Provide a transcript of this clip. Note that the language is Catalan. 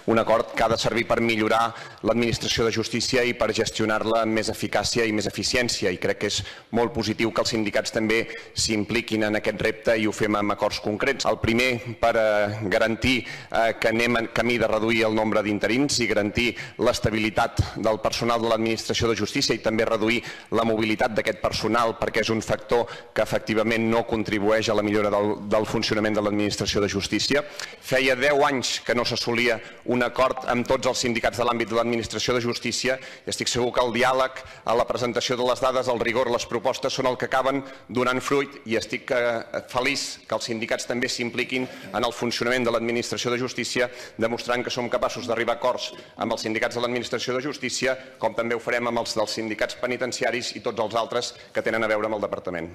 un acord que ha de servir per millorar l'administració de justícia i per gestionar-la amb més eficàcia i més eficiència. I crec que és molt positiu que els sindicats també s'impliquin en aquest repte i ho fem amb acords concrets. El primer, per garantir que anem en camí de reduir el nombre d'interins i garantir l'estabilitat del personal de l'administració de justícia i també reduir la mobilitat d'aquest personal, perquè és un factor que efectivament no contribueix a la millora del funcionament de l'administració de justícia. Feia 10 anys que no s'assolia un acord amb tots els sindicats de l'àmbit de l'administració de justícia i estic segur que el diàleg, a la presentació de les dades, el rigor, les propostes són el que acaben donant fruit i estic feliç que els sindicats també s'impliquin en el funcionament de l'administració de justícia, demostrant que som capaços d'arribar a acords amb els sindicats de l'administració de justícia, com també ho farem amb els dels sindicats penitenciaris i tots els altres que tenen a veure amb el departament.